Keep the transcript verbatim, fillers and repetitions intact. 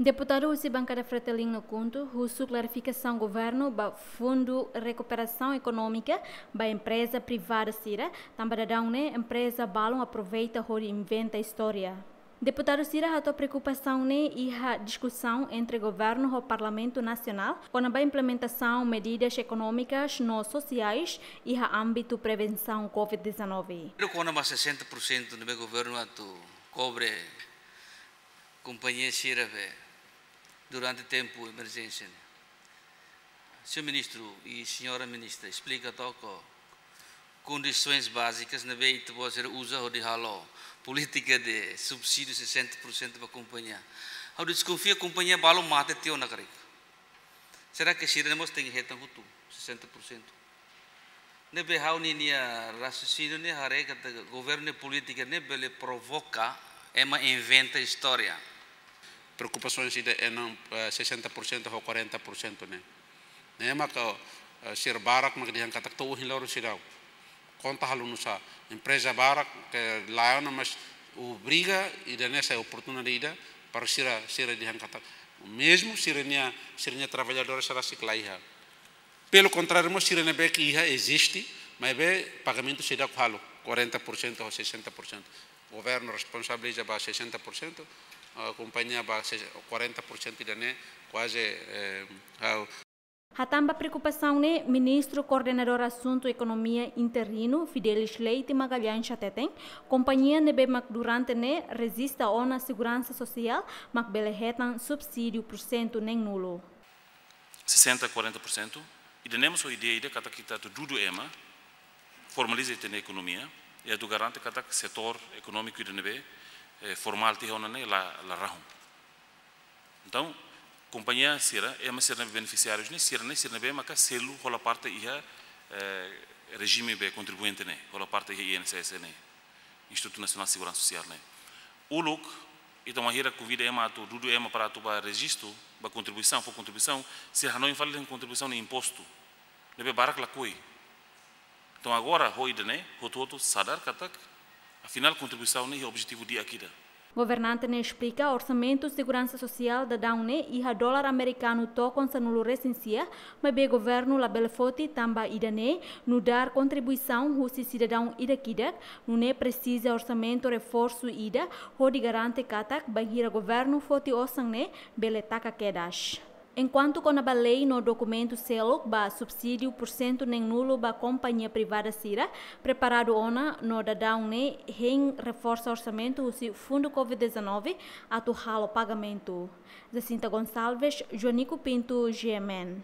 Deputadu husi bankada Fretilin no KHUNTO husu klarifikasaun governu ba Fundu Rekuperasaun Ekonómika ba empreza privada sira, tanba daudaun ne'e empreza balun aproveita hodi inventa istória. Deputadu sira hato'o preokupasaun ne'e iha diskusaun entre governu ho Parlamentu Nasionál kona-ba implementasaun medidas ekonómikas no sosiais iha ámbitu prevensaun covid dezanove. Kona-ba sessenta por cento ne'ebé governu atu kobre kompañia sira be durante tempu emerjénsia ne'e. Señór Ministru i Señora Ministra, esplika to'ok kondisoens bázikas ne'ebé ita-boot sira uza hodi halo polítika de subsídiu sessenta por cento ba kompañia. Ha'u deskonfia kompañia balun mate tiha ona karik. Será que sira-ne'e mós tenke hetan hotu sessenta por cento? Ne'ebé ha'u-nia raciocínio ne'e haree katak governu nia polítika ne'e bele provoka ema inventa istória. Preokupasaun sira ne'e, eh, sessenta por cento ho quarenta por cento ne'e. Ne'e maka, eh, sira barak mak dehan katak to'o ohin loron seidauk konta halo nusá. Empreza barak ke laiha ona, mas obriga ida-ne'e sai oportunidade ida para sira, sira dehan katak mezmu sira-nia, sira-nia traballadór sira sei laiha. Pelo contrário, mós sira ne'ebé ke iha eziste, maibé pagamentu seidauk halo, quarenta por cento ho sessenta por cento. Governu responsabiliza ba sessenta por cento, ah, kompañia ba se-, quarenta por cento ida-ne'e kuaze, eh, ha'u. Hatán ba preokupasaun ne'e, Ministru Koordenadór Asuntu Ekonomia interinu, Fidelis Leite Magalhães hateten, kompañia ne'ebé mak durante ne'e rejista ona seguransa sosiál mak bele hetan subsídiu pursentu neen-nulu. Sessenta, quarenta por cento, ida-ne'e mós ho ideia ida katak ita atu dudu ema, formaliza ita-nia ekonomia, i atu garante katak setór ekonómiku ida ne'ebé, eh, formál tiha ona ne'e la, la rahun. Entaun, kompañia sira, ema sira ne'ebé benefisiárius ne'e, sira ne'e, sira ne'ebé maka selu hola parte iha, eh, rejime be kontribuinte ne'e, hola parte iha I N S S ne'e, Institutu Nasionál Seguransa Sosiál ne'e. Uluk, ita wainhira konvida ema atu, dudu ema para atu ba rejistu, ba kontribuisaun, fó kontribuisaun, sira hanoin fali dehan kontribuisaun ne'e impostu. Ne'ebé barak lakohi. Entaun agora, ho ida-ne'e, hotu-hotu sadar katak, afinál kontribuisaun ne'e iha objetivu di'ak ida. Governante ne'e esplika orsamentu seguransa sosiál daudaun ne'e iha dolar amerikanu tokon sanulu-resin-sia, maibé governu labele foti tanba ida-ne'e nu'udar kontribuisaun husi sidadaun ida-idak, nune'e presiza orsamentu reforsu ida, hodi garante katak bainhira governu foti osan ne'e bele taka kedas. Enkuantu kona-ba lei no dokumentu seluk ba subsídiu pursentu neen-nulu ba kompañia privada sira, preparadu ona no daudaun ne'e hein reforsa orsamentu husi Fundu covid dezanove atu halo pagamentu. Jacinta Gonçalves, Joanico Pinto, G M N.